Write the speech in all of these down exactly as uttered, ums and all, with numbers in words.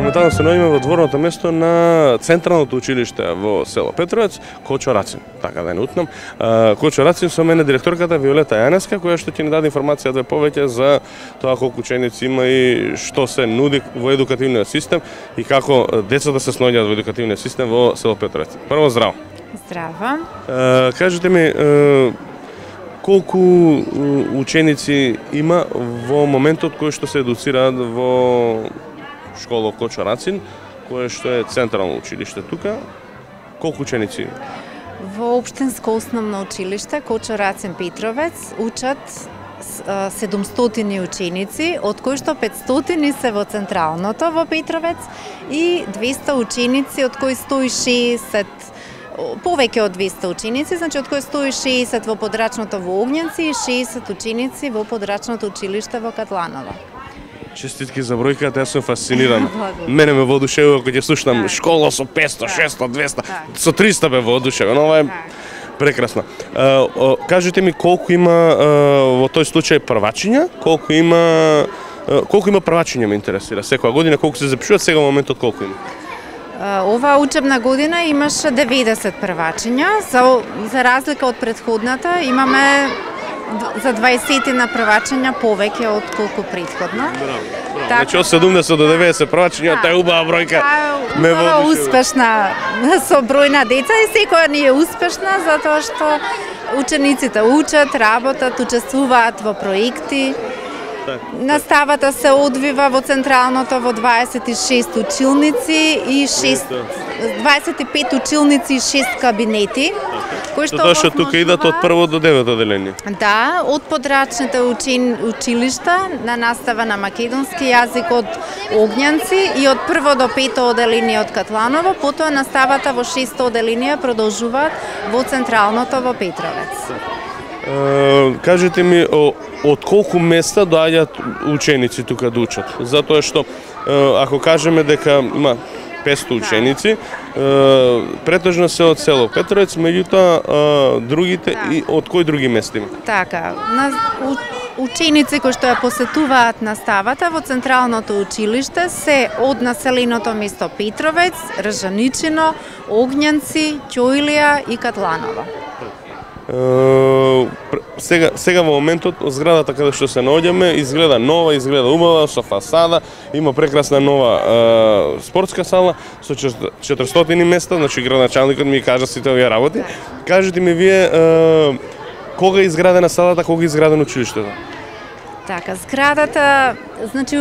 Моментално се наоѓаме во дворното место на Централното училиште во село Петровец, Кочо Рацин, така да не утнам. Кочо Рацин, со мене директорката Виолета Јанеска, која што ќе ни даде информација две повеќе за тоа колку ученици има и што се нуди во едукативниот систем и како децата се снаоѓаат во едукативниот систем во село Петровец. Прво, здраво. Здраво. Кажете ми, колку ученици има во моментот кој што се едуцираат во школа Кочо Рацин, кое што е централно училиште тука? Колку ученици? Во општинско основно училиште Кочо Рацин Петровец учат седумстотини ученици, од кои што петстотини се во централното во Петровец и двеста ученици, од кои сто и шеесет повеќе од двеста ученици, значи од кои сто и шеесет во подрачното во Огњанци и шеесет ученици во подрачното училиште во Катланово. Честитки за бројката, јас сум фасциниран. Мене ме воодушевува кога ќе слушнам школа со петсто, шестsto, двеста, со триста бе воодушевен. Ова е прекрасно. Кажете ми колку има во тој случај првачиња, колку има колку има првачиња ме интересира. Секоја година колку се запишуваат, сега моментот колку има? Оваа учебна година имаше деветдесет првачиња, за за разлика од претходната имаме за дваесет на првачиња повеќе од колку претходно. Браво, браво. Значи од седумдесет до деветдесет првачиња, тоа е убава бројка. Ме воодушевува. Успешна со број на деца и секоја ни е успешна затоа што учениците учат, работат, учествуваат во проекти. Наставата се одвива во централното во дваесет и шест училници и шест дваесет и пет училници и шест кабинети. Кои што Тоа што тука идат од прво до девето одделение. Да, од подрачните учен, училишта на настава на македонски јазик од Огњанци и од прво до пето одделение од Катланово, потоа наставата во шесто одделение продолжуваат во централното во Петровец. Uh, кажете ми о, од колку места доаѓаат ученици тука да учат? Затоа што uh, ако кажеме дека има петсто ученици, uh, претежно се од село Петровец, меѓутоа uh, другите да. И од кои други места има? Така, на у, ученици кои што ја посетуваат наставата во централното училиште се од населеното место Петровец, Ржаничино, Огњанци, Ќоилија и Катланово. Uh, сега, сега во моментот зградата каде што се наоѓаме изгледа нова, изгледа убава, со фасада, има прекрасна нова uh, спортска сала со четиристотини места, значи градоначалникот ми кажа сите овие работи. Кажете ми вие uh, кога е изградена салата, кога е изградено училиштето? Така, зградата, значи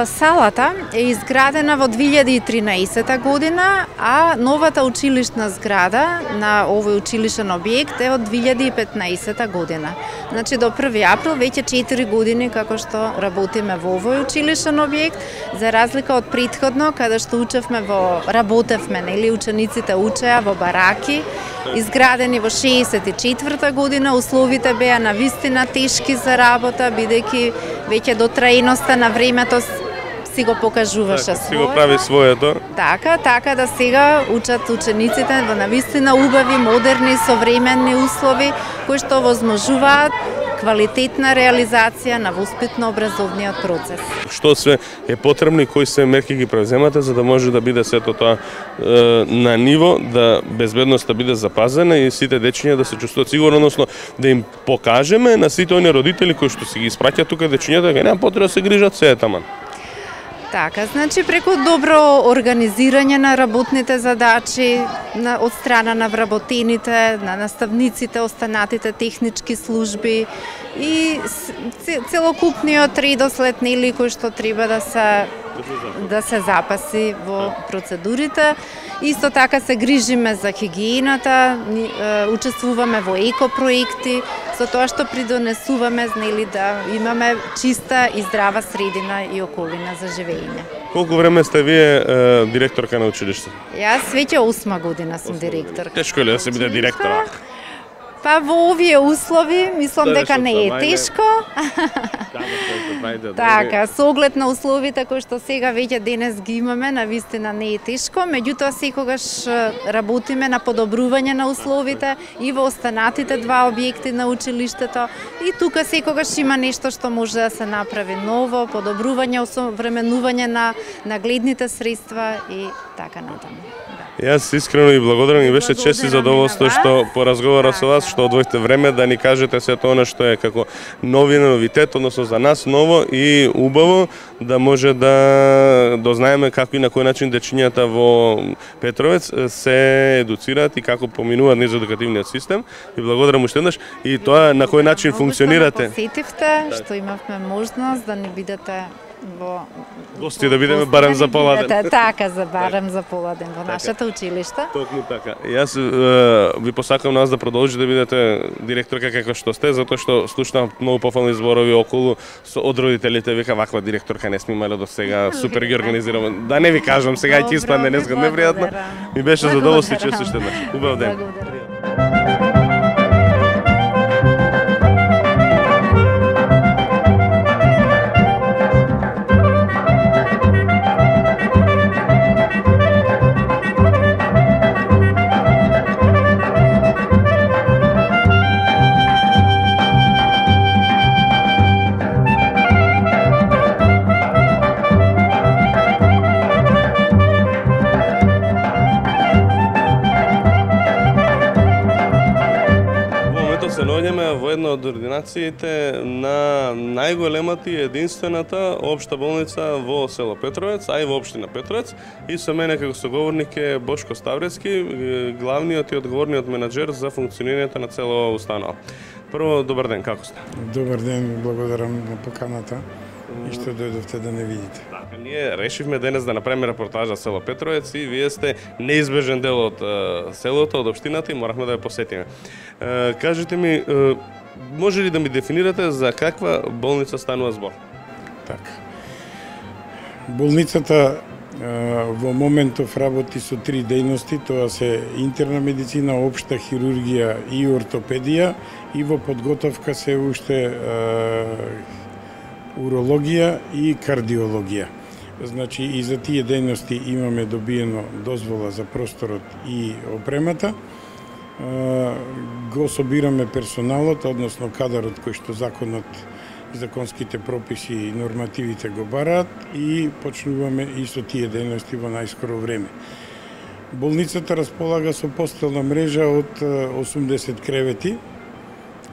салата е изградена во две илјади и тринаесета година, а новата училишна зграда на овој училишен објект е од две илјади и петнаесета година. Значи до први април веќе четири години како што работиме во овој училишен објект, за разлика од претходно каде што учевме во работевме, нели учениците учеа во бараки, изградени во шеесет и четврта година, условите беа навистина тешки за работа, бидејќи веќе до траеноста на времето си го покажуваше така, своето. Си го прави своето. Така, така да сега учат учениците во навистина убави, модерни, современни услови, кои што возможуваат квалитетна реализација на воспитно-образовниот процес. Што се е потребно и кои се мерки ги превземате за да може да биде сето тоа е, на ниво, да безбедноста биде запазена и сите дечиња да се чувствуваат сигурно, односно да им покажеме на сите оние родители кои што се ги испраќаат тука дечињата, дека нема потреба да се грижат, се е таман. Така, значи преку добро организирање на работните задачи на, од страна на вработените, на наставниците, останатите технички служби и целокупниот редослед нели кој што треба да се да се запаси во процедурите. Исто така се грижиме за хигиената, учествуваме во екопроекти, со тоа што придонесуваме нели да имаме чиста и здрава средина и околина за живење. Колку време сте вие е, директорка на училиште? Јас веќе осма година сум директор. Тешко е ли да се биде директор? Па во овие услови мислам дека не е тешко. Така, со оглед на условите кои што сега веќе денес ги имаме, на вистина не е тешко, меѓутоа секогаш работиме на подобрување на условите и во останатите два објекти на училиштето, и тука секогаш има нешто што може да се направи ново, подобрување, осовременување на нагледните средства и така натаму. Јас искрено и благодарам, и беше чест и задоволство што поразговарав со вас, што одвојте време да ни кажете сето она што е како новина, новитет, односно за нас ново и убаво, да може да дознаеме како и на кој начин дечињата во Петровец се едуцираат и како поминуваат низ едукативниот систем. И благодарам уште еднаш и тоа на кој начин функционирате. Посетивте, што имавме можност да ни бидете во гости, да бидеме барем за пола ден. Така, за барем за пола ден во нашето училиште. Токму така. Јас е, ви посакам нас да продолжите да бидете директорка како што сте, затоа што слушнав многу пофални зборови околу со од родителите, вика ваква директорка не сме имале до сега, супер ги организираме. Да не ви кажам сега и ќе испадне незгодно непријатно. Ми беше задоволство че сте еднаш. Убав ден. Се наоѓаме во една од ординациите на најголемата и единствената општа болница во село Петровец, а и во општина Петровец. И со мене како соговорник е Бошко Ставрецки, главниот и одговорниот менаџер за функционирањето на цела установа. Прво, добар ден, како сте? Добар ден, благодарам на поканата и што дојдовте да не видите. Така, ние решивме денес да направиме репортажа село Петровец и вие сте неизбежен дел од е, селото, од општината и моравме да ја посетиме. Е, кажете ми, е, може ли да ми дефинирате за каква болница станува збор? Така. Болницата е, во моментов работи со три дејности, тоа се интерна медицина, општа хирургија и ортопедија, и во подготовка се уште е, урологија и кардиологија. Значи и за тие дејности имаме добиено дозвола за просторот и опремата. Го собираме персоналот, односно кадарот кој што законот и законските прописи и нормативите го бараат, и почнуваме и со тие дејности во најскоро време. Болницата располага со постелна мрежа од осумдесет кревети,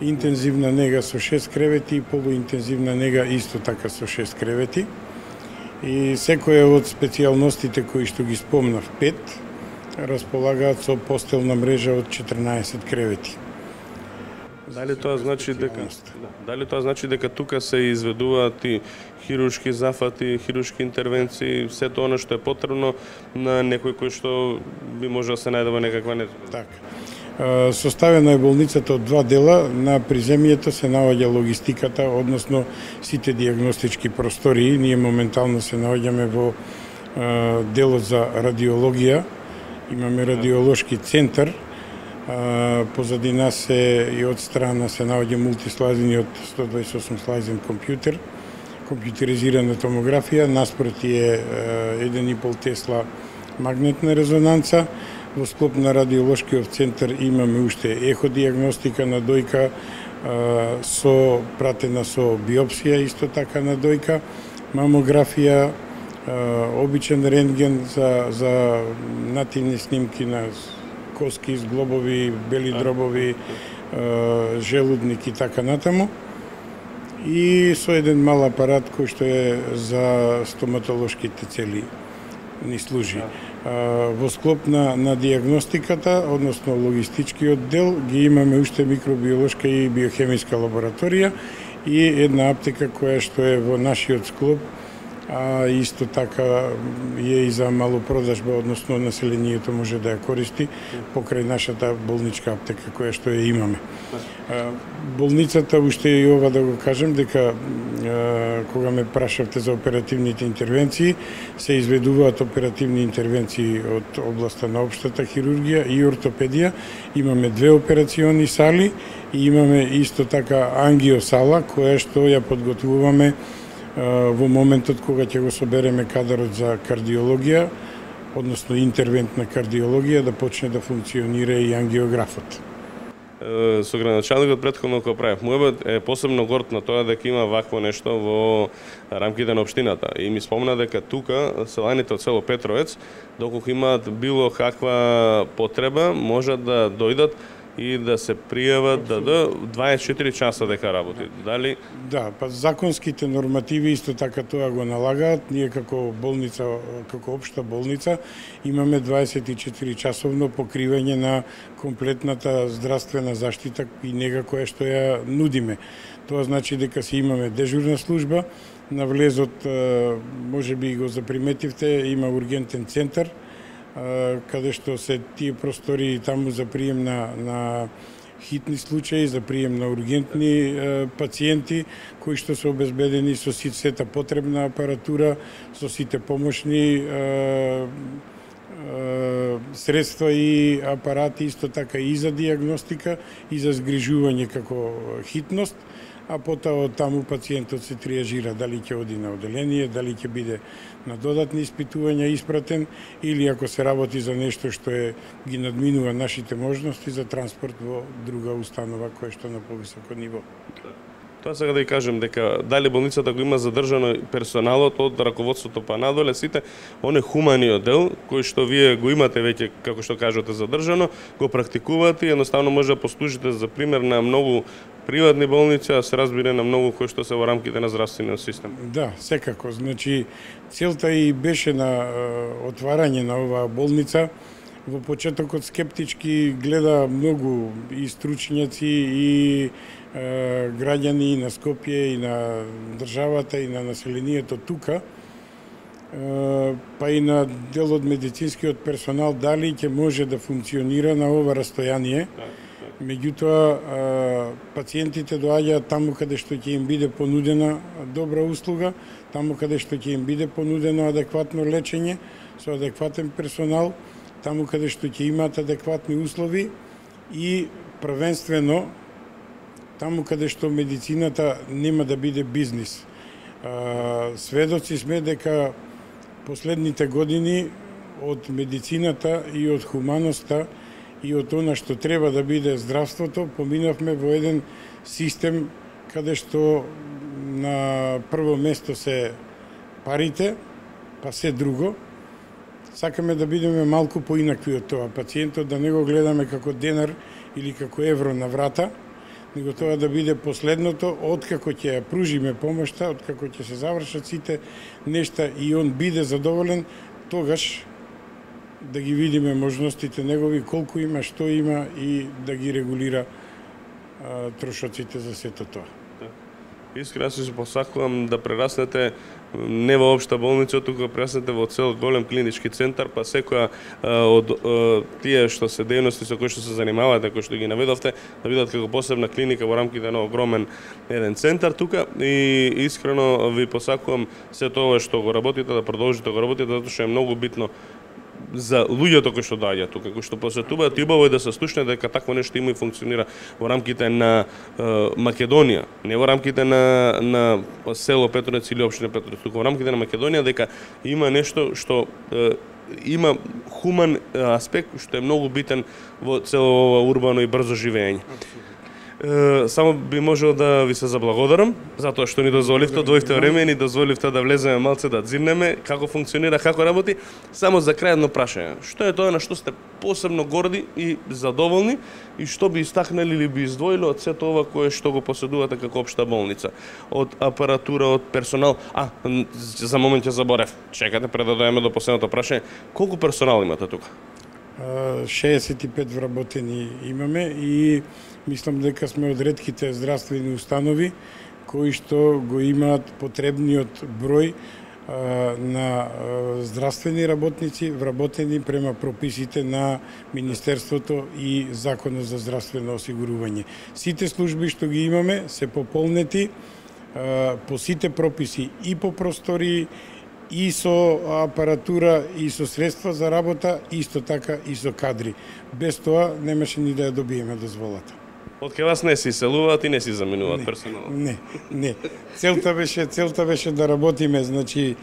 интензивна нега со шест кревети и полуинтензивна нега исто така со шест кревети. И секоја од специјалностите кои што ги спомнав, пет, располагаат со постелна мрежа од четрнаесет кревети. Дали тоа значи дека дали тоа значи дека тука се изведуваат и хируршки зафати, хируршки интервенции, сето она што е потребно на некој кој што би можел да се најде во некаква незгода? Така. Составена е болницата од два дела. На приземјето се наоѓа логистиката, односно сите диагностички простории. Ние моментално се наоѓаме во делот за радиологија. Имаме радиолошки центар. Позади нас е и од страна се наоѓа мултислайзениот сто дваесет и осум слайзен компјутер, компјутеризирана томографија, наспроти е еден и пол Тесла магнетна резонанца. Во склоп на радиолошкиот центар имаме уште еходиагностика на дојка, со пратена со биопсија исто така на дојка, мамографија, обичен рентген за, за нативни снимки на коски, зглобови, бели дробови, желудник и така натаму. И со еден мал апарат кој што е за стоматолошките цели ни служи. Во склоп на, на диагностиката, односно логистичкиот дел, ги имаме уште микробиолошка и биохемиска лабораторија и една аптека која што е во нашиот склоп а исто така е и за малопродажба, односно населението може да ја користи покрај нашата болничка аптека која што ја имаме. Болницата, уште и ова да го кажем, дека кога ме прашавте за оперативните интервенции, се изведуваат оперативни интервенции од областа на општата хирургија и ортопедија. Имаме две операциони сали и имаме исто така ангиосала која што ја подготвуваме во моментот кога ќе го собереме кадарот за кардиологија, односно интервентна кардиологија, да почне да функционира и ангиографот. Со градоначалникот претходно кога правев муебет е посебно горд на тоа дека има вакво нешто во рамките на општината. И ми спомна дека тука селаните од село Петровец, доколку имаат било каква потреба, можат да дојдат и да се пријават да до дваесет и четири часа дека работи. Дали? Да, па законските нормативи исто така тоа го налагаат. Ние како болница, како општа болница, имаме дваесет и четири часовно покривање на комплетната здравствена заштита и нега која што ја нудиме. Тоа значи дека си имаме дежурна служба, на влезот, може би го заприметивте, има ургентен центар, каде што се тие простори таму за прием на, на хитни случаи, за прием на ургентни е, пациенти, кои што се обезбедени со сета потребна апаратура, со сите помошни е, е, средства и апарати, исто така и за диагностика, и за згрижување како хитност, а потоа од таму пациентот се триажира дали ќе оди на оделение, дали ќе биде на додатни испитувања испратен, или ако се работи за нешто што е ги надминува нашите можности за транспорт во друга установа која што на повисоко ниво. Тоа сега да ја кажем дека дали болницата го има задржано персоналот од раководството па надоле, сите оне хуманиот дел кој што вие го имате веќе, како што кажете, задржано, го практикувате и едноставно може да послужите за пример на многу приватни болници, а се разбира на многу кои што се во рамките на здравствениот систем. Да, секако. Значи, целта и беше на отварање на оваа болница. Во почетокот скептички гледа многу и стручњаци и е, граѓани и на Скопје и на државата и на населението тука, е, па и на дел од медицинскиот персонал дали ќе може да функционира на ова растојание. Меѓутоа, пациентите доаѓаат таму каде што ќе им биде понудена добра услуга, таму каде што ќе им биде понудено адекватно лечење со адекватен персонал, таму каде што ќе имаат адекватни услови и првенствено таму каде што медицината нема да биде бизнис. Сведоци сме дека последните години од медицината и од хуманоста и од она што треба да биде здравството, поминавме во еден систем каде што на прво место се парите, па се друго. Сакаме да бидеме малку поинакви од тоа. Пациентот да не го гледаме како денар или како евро на врата, него тоа да биде последното, откако ќе ја пружиме помошта, откако ќе се завршат сите нешта и он биде задоволен, тогаш да ги видиме можностите негови, колку има, што има и да ги регулира а, трошоците за сето тоа. Искрено се посакувам да прераснете не во општа болница, туку прераснете во цел голем клинички центар, па секоја од тие што се дејности со кои што се занимавате, кои што ги наведовте, да бидат како посебна клиника во рамките на огромен еден центар тука, и искрено ви посакувам се тоа што го работите да продолжите да го работите, затоа што е многу битно за луѓето кои што доаѓаат тука, кои што посетуваат, и убаво е да се слушне дека такво нешто има и функционира во рамките на е, Македонија, не во рамките на на село Петровец или општина Петровец, туку во рамките на Македонија, дека има нешто што е, има хуман аспект што е многу битен во цело ова урбано и брзо живење. Само би можел да ви се заблагодарам затоа што ни дозволивте, дојдовте време и ни дозволивте да влеземе малце да дзирнеме како функционира, како работи. Само за крај едно прашање. Што е тоа на што сте посебно горди и задоволни и што би истакнали или би издвоили од сето ова кое што го поседувате како општа болница? Од апаратура, од персонал. А, за момент ќе заборев. Чекате пред да дојдеме до последното прашање. Колку персонал имате тука? шеесет и пет вработени имаме и мислам дека сме од ретките здравствени установи кои што го имаат потребниот број на здравствени работници вработени према прописите на Министерството и Законот за здравствено осигурување. Сите служби што ги имаме се пополнети по сите прописи и по простории, и со апаратура, и со средства за работа, исто така и со кадри. Без тоа немаше ни да ја добиеме дозволата. Од ке вас не се иселуваат и не се заменуваат персонал? Не, не. Целта беше, целта беше да работиме, значи,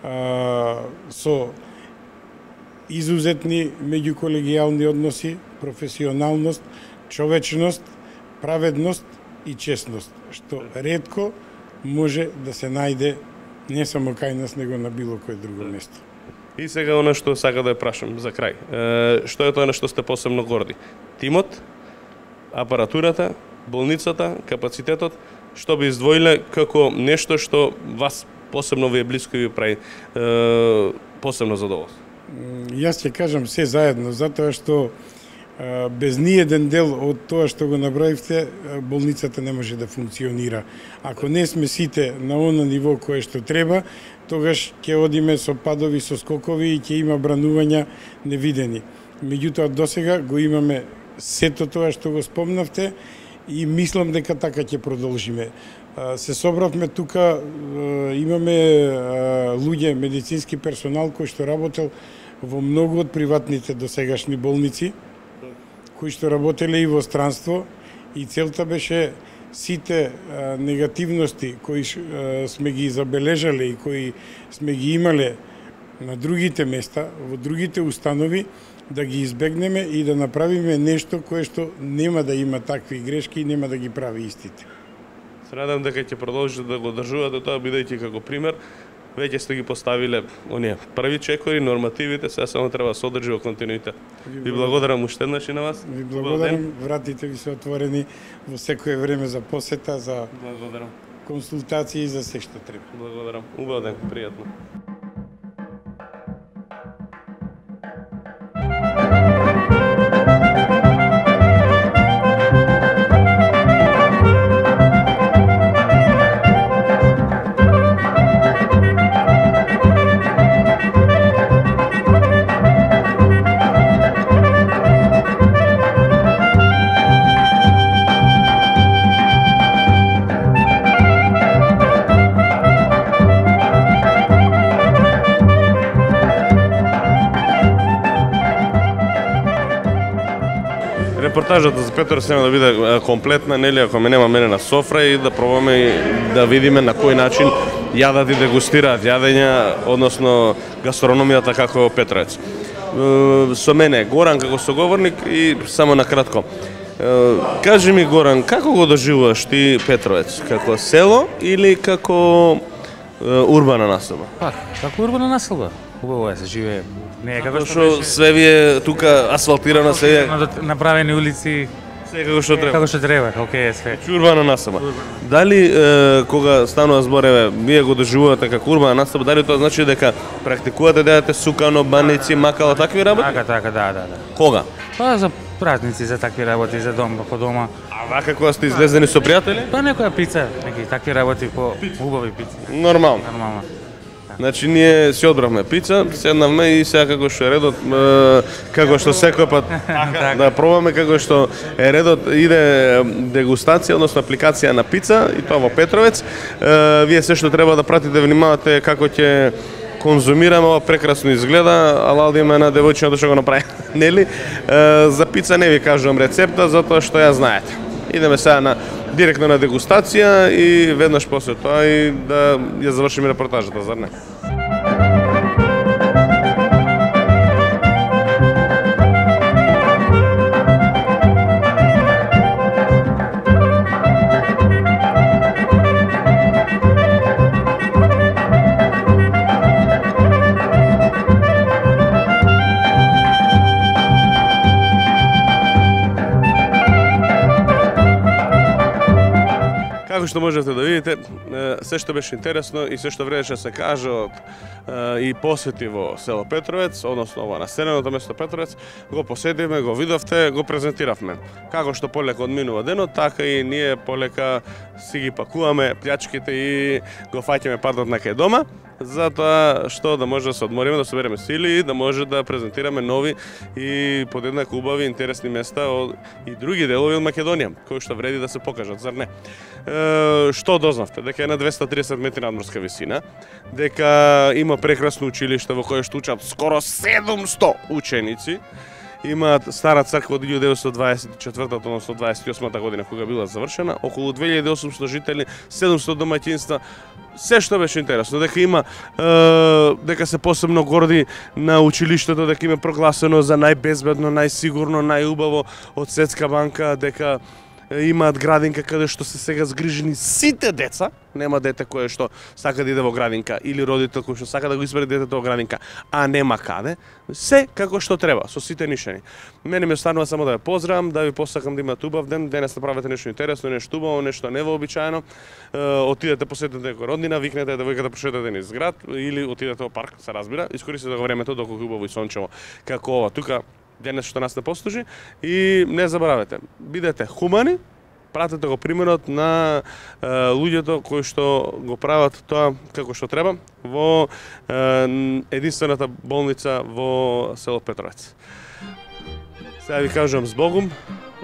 а, со изузетни меѓуколегијални односи, професионалност, човечност, праведност и честност, што ретко може да се најде не само кај нас, него на било кое друго место. И сега оно што сака да ја прашам за крај. Е, што е тоа на што сте посебно горди? Тимот, апаратурата, болницата, капацитетот, што би издвоиле како нешто што вас посебно ви е блиско и ви прави е, посебно задоволство? Јас ќе кажам се заедно, затоа што е, без ни еден дел од тоа што го наброивте, болницата не може да функционира. Ако не сме сите на оно ниво кое што треба, тогаш ќе одиме со падови, со скокови и ќе има бранувања невидени. Меѓутоа, досега го имаме сето тоа што го спомнавте и мислам дека така ќе продолжиме. Се собравме тука, имаме луѓе, медицински персонал кој што работел во многу од приватните досегашни болници, кои што работеле и во странство, и целта беше сите негативности кои сме ги забележале и кои сме ги имале на другите места, во другите установи, да ги избегнеме и да направиме нешто кое што нема да има такви грешки и нема да ги прави истите. Се надам дека ќе продолжите да го одржувате тоа, бидејќи како пример веќе сте ги поставиле оние први чекори, нормативите, сега само треба да се одржи во континуитет. Ви благодарам уште еднаш и на вас. Ви благодарам, вратите ви се отворени во секое време за посета, за благодарам. Консултации и за се што треба. Благодарам. Убав ден, пријатно. Репортажата за Петровец нема да биде комплетна, нели, ако ме нема мене на софра и да пробаме да видиме на кој начин јадат и дегустираат јадења, односно гастрономијата како Петровец. Со мене Горан како соговорник и само на кратко. Кажи ми, Горан, како го доживуваш ти Петровец? Како село или како урбана населба? Па, како урбана населба. Убаво е се живее. Не е како што све ви е тука асфалтирано, се е направени улици, се како што треба. Како што треба, окей е све. Урбана населба. Дали е, кога станува збор, еве, вие го доживувате како урбана населба, дали тоа значи дека практикувате да јадете сукано, баници, макала, такви работи? Така, така, да, да, да. Кога? Па за празници, за такви работи, за дом, по дома. А вака кога сте излезени со пријатели? Па некоја пица, неки такви работи по убави пици. Нормално. Нормално. Значи ние си одбравме пица, седнавме и сега како што е редот, како што секој пат да пробаме, како што е редот, иде дегустација, односно апликација на пица и тоа во Петровец. Вие се што треба да пратите, внимавате како ќе конзумираме, ова прекрасно изгледа, ала да има една девојчината што го направи, нели? За пица не ви кажувам рецепта, затоа што ја знаете. Идеме сега на директно на дегустација и веднаш после тоа и да ја завршиме репортажата, зар не? Како што можете да видите, се што беше интересно и се што вредеше да се каже од и посети во село Петровец, односно ова населеното место Петровец, го посетивме, го видовте, го презентиравме. Како што полека одминува денот, така и ние полека си ги пакуваме плячките и го фаќаме патот на кај дома. за тоа што да може да се одмориме, да собереме сили и да може да презентираме нови и подеднакво убави интересни места од и други делови од Македонија, кои што вреди да се покажат, зар не? Е, што дознавте? Дека е на двесте и тридесет метри надморска висина, дека има прекрасно училиште во кое што учат скоро седумсто ученици, имаат стара црква од илјада деветстотини дваесет и четвртата, односно дваесет и осмата година кога била завршена, околу две илјади и осумсто жители, седумсто домаќинства, се што беше интересно, дека има е, дека се посебно горди на училиштето, дека има прогласено за најбезбедно, најсигурно, најубаво од Светска банка, дека имаат градинка каде што се сега згрижени сите деца, нема дете кое што сака да иде во градинка или родител кој што сака да го исправи детето во градинка, а нема каде, се како што треба, со сите нишани. Мене ме останува само да ве поздравам, да ви посакам да имате убав ден, денес направете нешто интересно, нешто убаво, нешто невообичаено, отидете посетете некоја роднина, викнете девојката прошетате низ град или отидете во парк, се разбира, искористете го времето доколку убаво и сончево како ова тука денес што нас не послужи и не заборавете, бидете хумани, пратете го примерот на е, луѓето кои што го прават тоа како што треба во е, единствената болница во село Петровец. Сега ви кажувам збогум,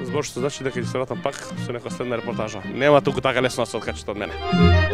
збор што значи дека ќе се вратам пак со некоја следна репортажа. Нема туку така лесно да се откачате од мене.